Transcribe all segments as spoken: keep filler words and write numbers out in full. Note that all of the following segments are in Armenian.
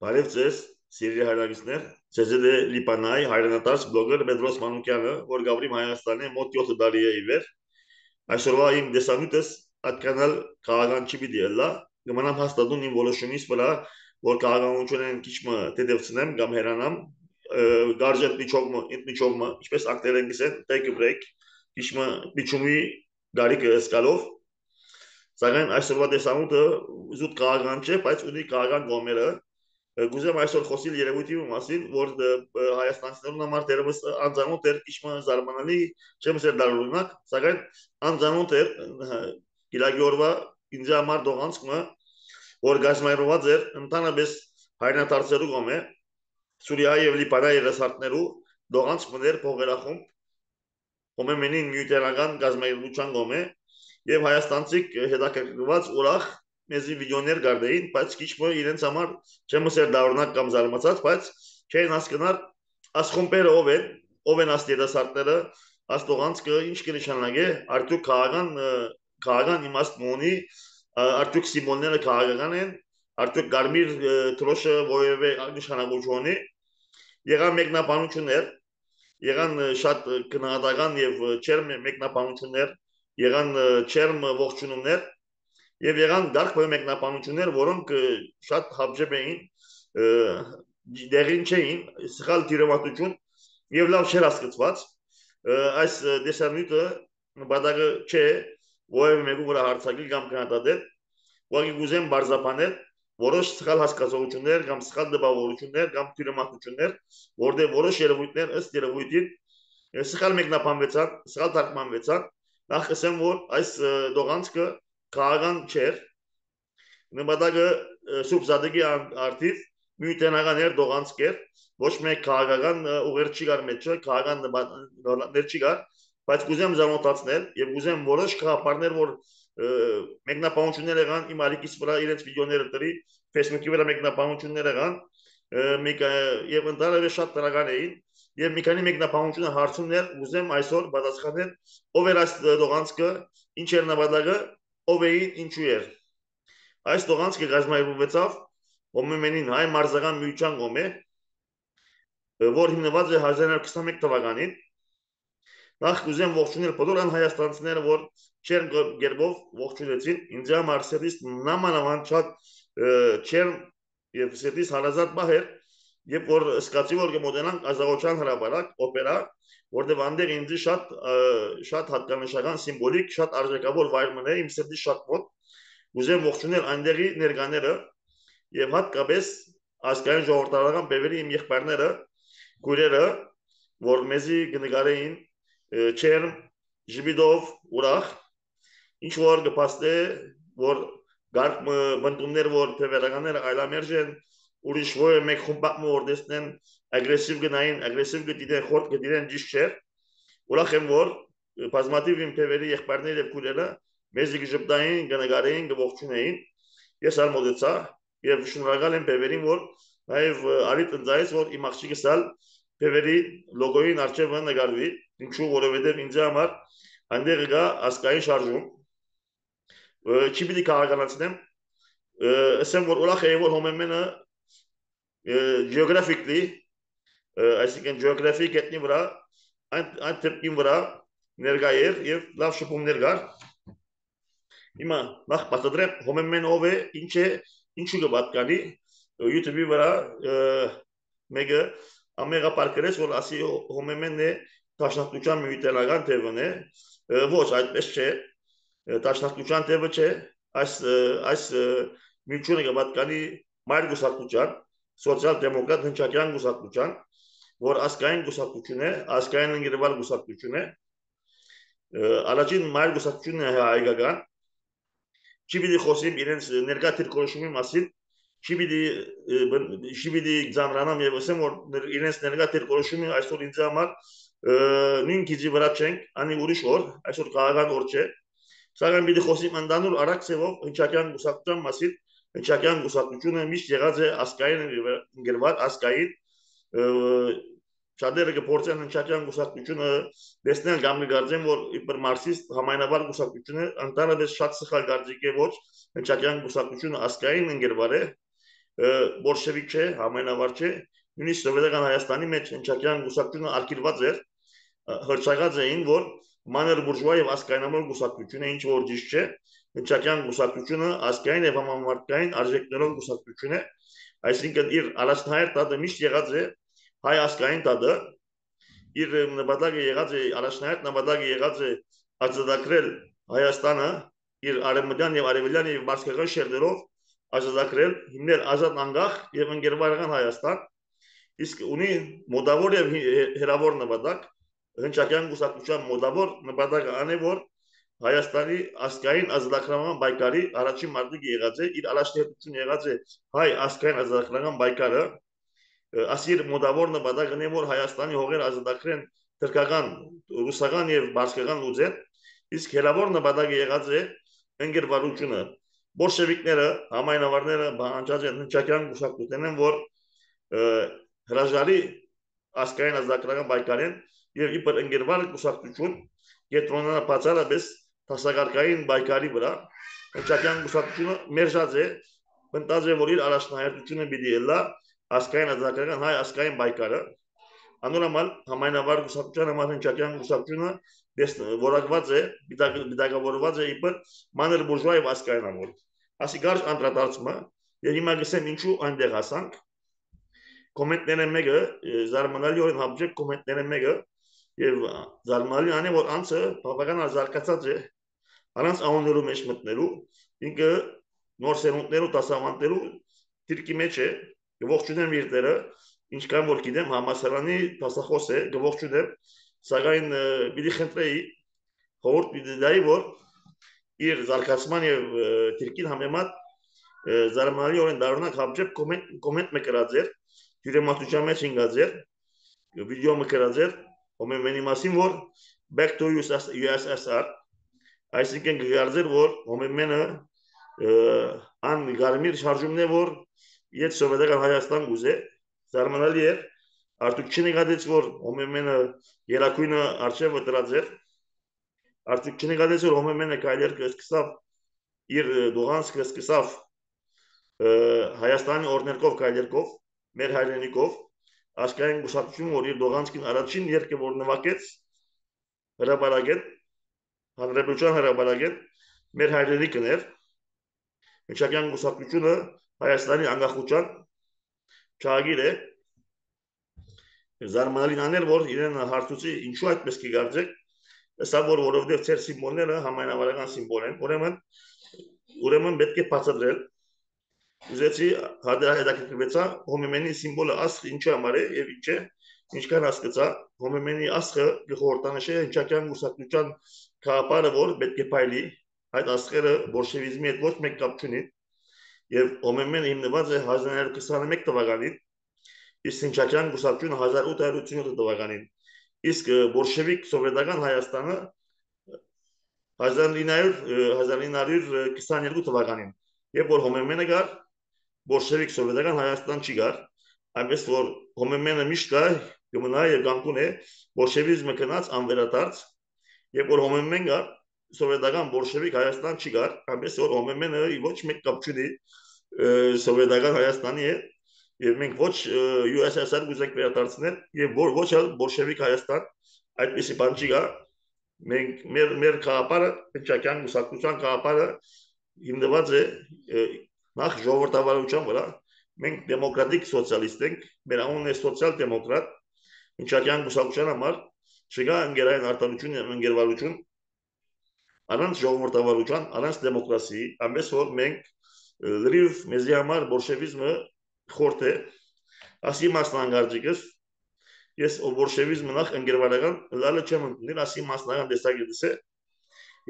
Բարև ձեզ, սիրելի հայրենիքներ, ձեզ է Լիբանանի հայրենադարձ բլոգեր Պետրոս Մանուկյանը, որ Գավրիմ Հայաստանի մոտ յոթ տարի է ի վեր։ Այսօրվա իմ դեսանյութս այդքանալ քաղաքական չի պիտի ելա, կմնամ հաստատուն իմ որոշումից վրա, որ քաղաքականությունն քիչ մը դեպցնեմ կամ հերանամ, գարժետ միջողը, ինքնիչողը, ինչպես ակտերեն գիսեն, take a break, քիչ մը միջումի դարիքը սկալով։ Սակայն այսօրվա դեսանյութը զուտ քաղաքական չէ, բայց ունի քաղաքական կողմերը։ Գուզեմ այսօր խոսիլ երևույթի մասին, որ հայաստանցիներուն համար դերևս անձանոթ էր քիչ զարմանալի, չեմ ասել դարօրինակ, սակայն անձանոթ էր գիրագի օրվա ինձ համար դողանցքը, որ գազམայրված էր ընդհանրապես հայրենադարձերու կողմէ, Սուրիայի եւ Լիբանանի երասարտներու դողանցքներ փողերախումբ, հոմեմենին միութերական գազམայրության կողմէ եւ հայաստանցիք հետաքրքրված ուրախ մեզի վիդեոներ գարդեին, բայց քիչ մը իրենց համար չեմ ասել դառնակ կամ զարմացած, բայց չեն հասկնար ասխոմբերը ով են, ով են աստերասարտները, աստողանցքը ինչ կնշանակե, արդյոք քաղաքական քաղաքական իմաստ ունի, արդյոք սիմվոլները քաղաքական են, արդյոք գարմիր թրոշը որևէ նշանակություն ունի, եղան մեկնաբանություններ, եղան շատ քննադատական եւ չերմ մեկնաբանություններ, եղան չերմ ողջունումներ Եվ եղան դարք մեկնաբանություններ, որոնք շատ հապժեպ էին, դեղին չէին, սխալ դիրամատություն եւ լավ չէր հասկացված։ Այս դեսանյութը նպատակը չէ, որևէ մեկու վրա հարցակել կամ քննադատել, ուղղակի կուզեմ բարձրաբանել որոշ սխալ հասկացություններ կամ սխալ դպավորություններ կամ դիրամատություններ, որտեղ որոշ երևույթներ ըստ երևույթին սխալ մեկնաբանվեցան, սխալ թարգմանվեցան, նախ ասեմ, որ այս դողանցքը քաղաքական չէր, նպատակը Սուրբ Զադեգի արդիվ միութենական էր դողանցք էր, ոչ մեկ քաղաքական ուղեր չի գար մեջը, քաղաքական ներ չի գար, բայց կուզեմ զանոթացնել եւ կուզեմ որոշ խաղապարներ, որ մեկնաբանություններ եղան իմ ալիքից վրա իրենց վիդեոները դրի, Facebook-ի վրա մեկնաբանություններ եղան, եւ ընդհանրապես շատ տրական էին, եւ մի քանի մեկնաբանությունը հարցումներ կուզեմ այսօր պատասխանել, ով էր այս դողանցքը, ինչ էր նպատակը, ով էին ինչու էր։ Այս դողանցքը գազམայրվեցավ հոմեմենին հայ մարզական միության կողմէ, որ հիմնված է հազար իննսուն քսաներկու թվականին։ Նախ կուզեմ ողջունել բոլոր հայաստանցիները, որ չեր գերբով ողջունեցին, ինձ համար սերտիս նամանավանդ շատ չեր եւ սերտիս հարազատ բահեր, երբ որ սկացի որ կմոտենանք ազատության հրապարակ օպերա, որտեղ այնտեղ ինձ շատ շատ հատկանշական սիմվոլիկ, շատ արժեքավոր վայր մնա իմ սրտի շատ մոտ, ուզեմ ողջունել այնտեղի ներկաները եւ հատկապես ազգային ժողովրդական բևերի իմ եղբայրները, քույրերը, որ մեզի կնկարեին չերմ, ժպիտով, ուրախ, ինչ որ կփաստե, որ գարկ բնդումներ, որ թևերականները այլամերժ են, ուրիշ որը մեկ խումբակ որ դեսնեն ագրեսիվ գնային, ագրեսիվ գտիդեն, խորտ գտիդեն ճիշտ չէ, ուրախ եմ, որ բազմաթիվ իմ թևերի եղբայրներ եւ քույրերը մեզի կժպտային, կնկարեին, կողջունեին, ես արմոդեցա եւ շնորհակալ եմ թևերին, որ նաեւ արի տնձայից, որ իմ աղջիկս ալ թևերի լոգոյին արջևը նկարվի, ինչու որովհետեւ ինձ համար այնտեղ կա ասկային շարժում, չի պիտի քաղաքականացնեմ, ասեմ, որ ուրախ եմ, որ հոմեմենը geographically, այսինքն geographic գետնի վրա, այն թեպքին վրա ներկա էր եւ լավ շփումներ կար։ Հիմա նախ պատադրեմ հոմեմեն ով է, ինչ է, ինչու կպատկանի YouTube-ի վրա մեկը ամեգա պարկերես, որ ասի հոմեմենն է տաշնակության միութենական թևն է, ոչ այդպես չէ, տաշնակության թևը չէ, այս միությունը կպատկանի մայր գուսակցության, սոցիալ-դեմոկրատ հնչակյան գուսակցության, որ ազգային գուսակցություն է, ազգային ընկերված գուսակցություն է, առաջին մայր գուսակցությունն է հայկական, չի պիտի խոսիմ իրենց ներկա դիրքորոշումի մասին, չի պիտի ձանրանամ եւ ասեմ, որ իրենց ներկա դիրքորոշումը այսօր ինձ համար նույն գիծի վրա չենք, անի ուրիշ օր, այսօր քաղաքական օր չէ, սակայն պիտի խոսիմ ընդանուր արագ ծևով հնչակյան գուսակցության մասին, հնչակյան գուսակցությունը միշտ եղած է ազգային ընկերված, ազգային շատերը կփորձեն հնչակյան գուսակցությունը դեսնել կամ կգարձեն, որ իբր մարքսիստ համայնավար գուսակցությունը ընդհանրապես շատ սխալ կարծիք է ոչ, հնչակյան գուսակցությունը ազգային ընկերված է, բոլշևիկ չէ, համայնավար չէ, նույնիսկ սովետական Հայաստանի մեջ հնչակյան գուսակցությունը արգելված էր, հրճակած էին, որ մանր բուրժուա եւ ասկայնամոլ գուսակցությունը ինչ որ ճիշտ չէ, հնչակյան գուսակցությունը ասկային եւ համամարտկային արժեքներով գուսակցություն է, այսինքն իր առաջնահերթ տատը միշտ եղած է հայ ասկային տատը, իր նպատակը եղած է առաջնահերթ նպատակը եղած է ազատագրել Հայաստանը իր արևմտյան եւ արևելյան եւ բարձրական շերտերով ազատագրել, հիմնել ազատ անկախ եւ ընկերական Հայաստան, իսկ ունի մոտավոր եւ հերավոր նպատակ, հնչակյան գուսակցության մոտավոր նպատակը ան է, որ Հայաստանի ասկային ազատագրման պայքարի առաջին մարտիկը եղած է, իր առաջնահերթությունը եղած է հայ ասկային ազատագրական պայքարը, ասիր մոտավոր նպատակն է, որ Հայաստանի հողերը ազատագրեն թրքական, ռուսական եւ բարձրական լուծեն, իսկ հերավոր նպատակը եղած է ընկերվարությունը։ Բոլշևիկները, համայնավարները բանջած են հնչակյան գուսակցության են, որ հրաժարի ասկային ազատագրական պայքարեն եւ իբր ընկերվար գուսակցություն կենտրոնանա բացառապես տասակարգային պայքարի վրա, հնչակյան գուսակցությունը մերժած է, մտած է, որ իր առաջնահերթությունը պիտի ելա ասկային ազատագրական հայ ասկային պայքարը, անորոմալ համայնավար գուսակցության համար հնչակյան գուսակցությունը որակված է, պիտակավորված է իբր մանր բուրժուա եւ ասկայնամոլ։ Ասի գարշ անդրադարձումը եւ հիմա գսեմ ինչու այնտեղ հասանք։ Կոմենտները մեկը զարմանալիորեն հապճեք կոմենտները մեկը եւ զարմանալի անի որ անցը բավական զարգացած է առանց անուններու մեջ մտնելու, ինքը նոր սերունդներու դասավանդելու դիրքի մեջ է, ողջունեմ իրները, ինչքան որ գիտեմ համասարանի դասախոս է, ողջունեմ, սակայն պիտի խնդրեի խորհուրդ պիտի տայի, որ իր զարգացման եւ դիրքին համեմատ զարմանալիորեն դառնանք հապճեպ կոմենտ մը գրած էր, յուրեմատության մեջ ինգած էր, վիդեո մը գրած էր, Հոմեմենի մասին, որ back to U S S R, այսինքն գարզեր, որ Հոմեմենը ան գարմիր շարժումն է, որ իդ սովետական Հայաստան գուզե, զարմանալի էր, արդյոք չնկատեց, որ Հոմեմենը երակույնը արջևը դրած էր, արդյոք չնկատեց, որ Հոմեմենը կայլեր կսկսավ, իր դուղանսկը սկսավ Հայաստանի օրներկով կայլերկով, մեր հայրենիքով, ասկային գուսակցություն, որ իր դողանցքին առաջին երկը, որ նվակեց, հրապարագեն, հանրապետության հրապարագեն, մեր հայրենիքն էր, հնչակյան գուսակցությունը Հայաստանի անկախության չագիր է, զարմանալին աներ, որ իրեն հարցուցի ինչու այդպես կգարձեք, սա որ որովհետև ծեր սիմվոլները համայնավարական սիմվոլ են, ուրեմն, ուրեմն պետք է բացատրել, ուզեցի հետաքրքրվեցա Հոմեմենի սիմվոլը ասխ ինչի համար է եւ ինչ է, ինչքան հասկացա Հոմեմենի ասխը գխորտանշե հնչակյան գուսակցության քաղաքարը, որ պետք է փայլի, այդ ասխերը բոլշևիզմի հետ ոչ մեկ կապ չունի եւ Հոմեմենը հիմնված է հազար նոց քսաներկու թվականին, իսկ հնչակյան գուսակցությունը հազար ութ հարյուր ութսունյոթ թվականին, իսկ բոլշևիկ սովետական Հայաստանը հազար ինը հարյուր քսաներկու թվականին, երբ որ Հոմեմենը գար բոլշևիկ սովետական Հայաստան չի գար, այնպես որ Հոմեմենը միշտ կա, կմնա եւ կանգուն է, բոլշևիզմը գնաց անվերադարձ, երբ որ Հոմեմեն գար, սովետական բոլշևիկ Հայաստան չի գար, այնպես որ Հոմեմենը ոչ մեկ կապ չունի սովետական Հայաստանի հետ, եւ մենք ոչ U S S R գուզենք վերադարձնել եւ ոչ էլ բոլշևիկ Հայաստան, այդպիսի բան չի գա, մենք մեր մեր քաղաքարը, հնչակյան գուսակցության քաղաքարը հիմնված է նախ ժողովրդավարության վրա, մենք դեմոկրատիկ սոցիալիստ ենք, մեր անունն է սոցիալ-դեմոկրատ, հնչակյան գուսակցության համար չկա ընկերային արտադրություն եւ ընկերվարություն, առանց ժողովրդավարության, առանց դեմոկրասիի, այնպես որ մենք լրիվ մեզի համար բոլշևիզմը խորտ է, ասի մասնագարտիկս, ես բոլշևիզմը նախ ընկերվարական լալը չեմ ընդունել, ասի մասնական տեսակետս է,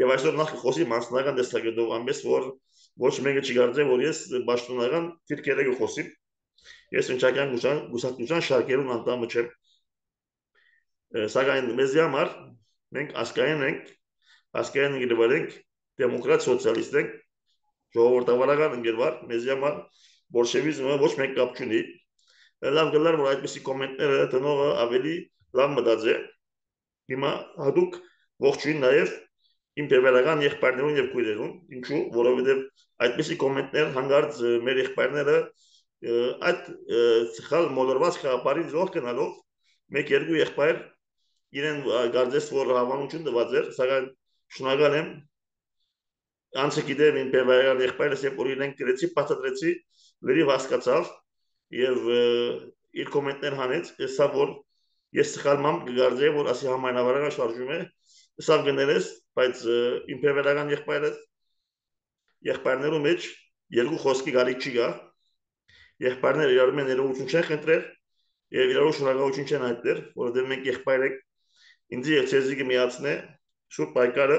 եւ այսօր նախ խոսի մասնական տեսակետով, այնպես որ ոչ մեկը չգարձե, որ ես պաշտոնական դիրքերը կխոսիմ, ես հնչակյան գուսակցության շարքերուն անդամը չեմ, սակայն մեզի համար մենք ասկային ենք, ասկային ընկերվար ենք, դեմոկրատ սոցիալիստ ենք, ժողովրդավարական ընկերվար, մեզի համար բոլշևիզմը ոչ մեկ կապ չունի, լավ գլար, որ այդպիսի կոմենտները տնողը ավելի լավ մտած է, հիմա հատուկ ողջույն նաև իմ բևերական եղբայրներուն եւ քույրերուն, ինչու, որովհետեւ այդպիսի կոմենտներ հանգարց մեր եղբայրները այդ սխալ մոլորված խաղապարի զոհ գնալով մեկ երկու եղբայր իրեն գարձես որ հավանություն տված էր, սակայն շնորհակալ եմ անցը գիտեմ իմ բևայրան եղբայրս երբ որ իրեն գրեցի, բացատրեցի, լրիվ հասկացավ եւ իր կոմենտներ հանեց, հեսա որ ես սխալ մամ կգարձեի որ ասի համայնավարական շարժում է, սա գներես, բայց իմ բևայրական եղբայրս եղբայրներու մեջ երկու խոսքի գալիք չի գա, եղբայրները իրար մեն ներողություն չեն խնդրել եւ իրարու շնորհակալություն չեն հայտնել, որովհետեւ մենք եղբայր ենք, ինձ եւ ցեզի կմիացնե շուտ պայքարը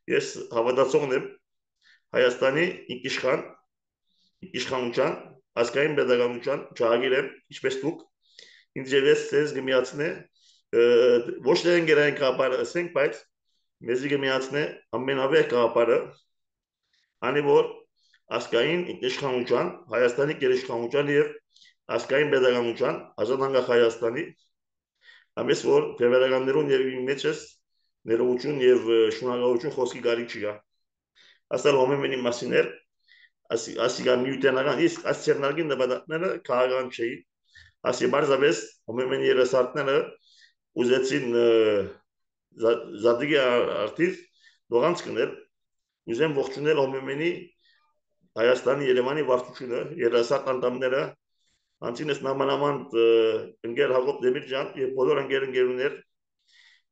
ես հավատացողն եմ Հայաստանի ինքիշխան իշխանության ազգային պետականության ճաղագիր եմ, ինչպես դուք ինձ եւ ես ցեզ կմիացնե ոչ թե ընկերային կապարը ասենք, բայց մեզի կմիացնե ամենավեհ կապարը անի որ ազգային ինքնիշխանության Հայաստանի գերիշխանության եւ ազգային պետականության ազատ անկախ Հայաստանի ամես որ բևեռականներուն եւ իմ մեջս ներողություն եւ շնորհակալություն խոսքի գալիք չի գա ասալ հոմեմենի մասիներ ասի ասիգա միութենական իսկ ասիերնարգին նպատակները քաղաքական չէի ասի բարձավես հոմեմենի երեսարտները ուզեցին զադիգի արտիվ դողանց կնել ուզեմ ողջունել հոմեմենի Հայաստանի Երևանի վարչությունը երեսարտ անդամները անցինս նամանամանդ ընկեր Հակոբ Դեմիրճյան եւ բոլոր ընկեր-ընկերուներ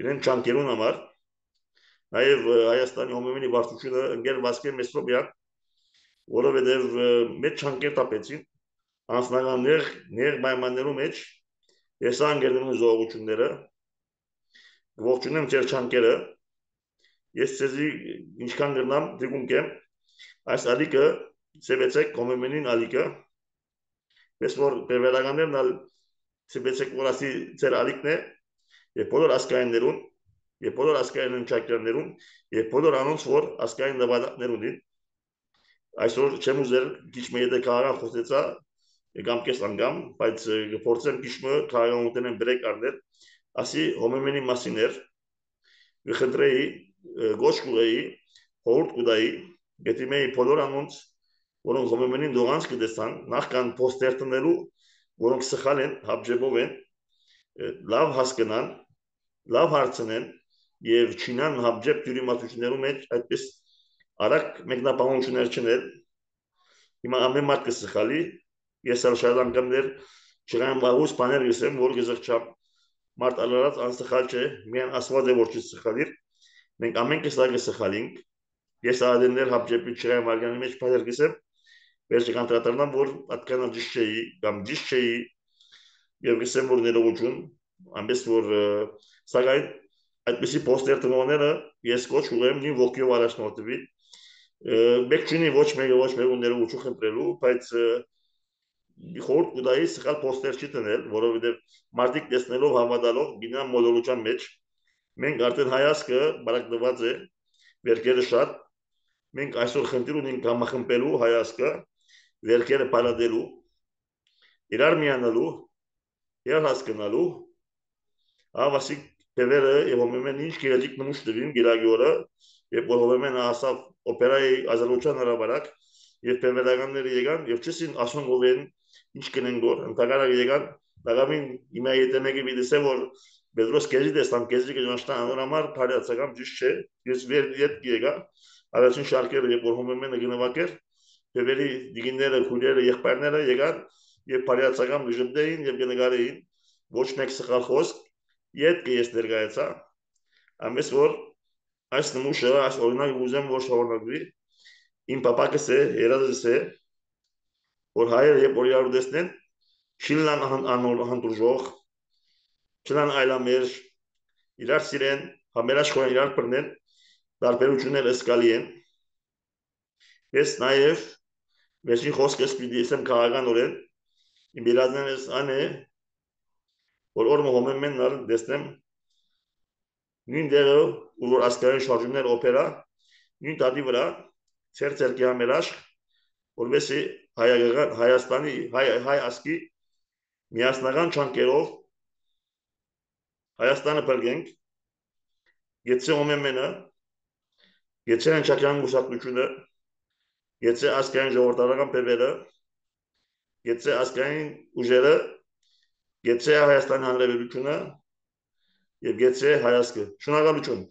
իրեն չանկերուն համար նաեւ Հայաստանի հոմեմենի վարչությունը ընկեր Վասկե Մեսրոբյան որովհետեւ մեծ չանկեր տապեցին անձնական ներ ներ պայմաններու մեջ ես անգերներու զողությունները ողջունեմ ձեր չանկերը ես ցեզի ինչքան գնամ դիգուն կեմ այս ալիկը ծեվեցեք հոմեմենին ալիկը ես որ բևեռականներն ալ ծեվեցեք որ ասի ձեր ալիկն է եւ բոլոր ասկայիններուն եւ բոլոր ասկային ընկերներուն եւ բոլոր անոնց որ ասկային նվադակներուն այսօր չեմ ուզել քիչ մի եթե քաղաքական խոսեցա կամ կես անգամ բայց գործեմ քիչ մը քաղաքական ուտենեն բրեկ առնել ասի հոմեմենի մասիներ վխնդրեի գոշկուեի հորդ կուդայի գետիմեի բոլոր անոնց որոնք հոմեմենին դողանց կդեսան նախքան պոստեր տնելու որոնք սխալ են հապջեբով են լավ հասկանան լավ հարցնեն եւ չինան հապջեբ դյուրիմացություններու մեջ այդպես արագ մեկնաբանություններ չնել հիմա ամեն մարդ կսխալի ես ալ շատ անգամներ չգամ բաղուս բաներ գսեմ որ գզղճամ մարդ ալարած անսխալ չէ միան ասված է որ չսխալիր մենք ամեն կեսա կսխալինք ես ադեններ հապջեպի չգամ արգանի մեջ բաներ գսեմ վերջի կանտրատարնամ որ atkan ճիշտ չէի կամ ճիշտ չէի եւ գսեմ որ ներողություն ամենս որ սակայն այդպիսի պոստեր տնողները ես կոչ ուղեմ նույն ոգիով առաջնորդվի մեկ չունի ոչ մեկը ոչ մեկը ներողություն խնդրելու բայց խորտ կուդայի սխալ պոստեր չի տնել որովհետեւ մարդիկ տեսնելով հավատալով գինան մոլորության մեջ մենք արդեն հայացքը բարակդված է վերքերը շատ մենք այսօր խնդիր ունենք համախմբելու հայացքը վերքերը պարադելու իրար միանալու եւ հասկանալու ավասիկ Տևերը եւ հոմեմեն ինչ գերեջիկ նմուշ դվին գիրագի օրը եւ որ հոմեմեն ասավ օպերայի Ադրբեջան հրաբարակ եւ տևերականները եկան եւ չսին ասում ովեն ինչ կնեն գոր ընդհանրապես եկան դաղամին իմա եթե մեկը դիտե որ Պետրոս կեզի դեստան կեզի կժանշտան անորամար բարյացական ճիշտ չէ ես վեր իդ եկա առաջին շարքերը երբ որ հոմեմենը գնվակեր տևերի դիգինները քույրերը եղբայրները եկան եւ բարյացական դժդեին եւ գնգարեին ոչ մեկ սխալ խոսք Ետ կես ներգայացա, ամես որ այս նմուշը, այս օրինակ ուզեմ որ շավորնակվի, իմ պապակս է, երազս է, որ հայերը եբ որ իրար ուդեսնեն, չիլնան հանդուրժող, չլան այլամերժ, իրար սիրեն, համերաշխորեն իրար պրնեն, դարբերություններ ասկալի են, ես նաև վերջին խոսքս պիտի իսեմ քաղաքական օրեն, իմ երազնեն ես ան է, որ օրմը հոմեմեն նար դեսնեմ նույն դեղը ու որ ասկային շարժումներ օպերա նույն տատի վրա ծեր ծերկի համերաշ որվեսի Հայաստանի հայ ասկի միասնական չանկերով Հայաստանը պրգենք գեցե հոմեմենը գեցե հնչակյան գուսակնությունը գեցե ասկային ժողորդարական պևերը գեցե ազգային ուժերը, գեցե Հայաստանի Հանրապետությունը եւ գեցե հայացքը։ Շնորհակալություն։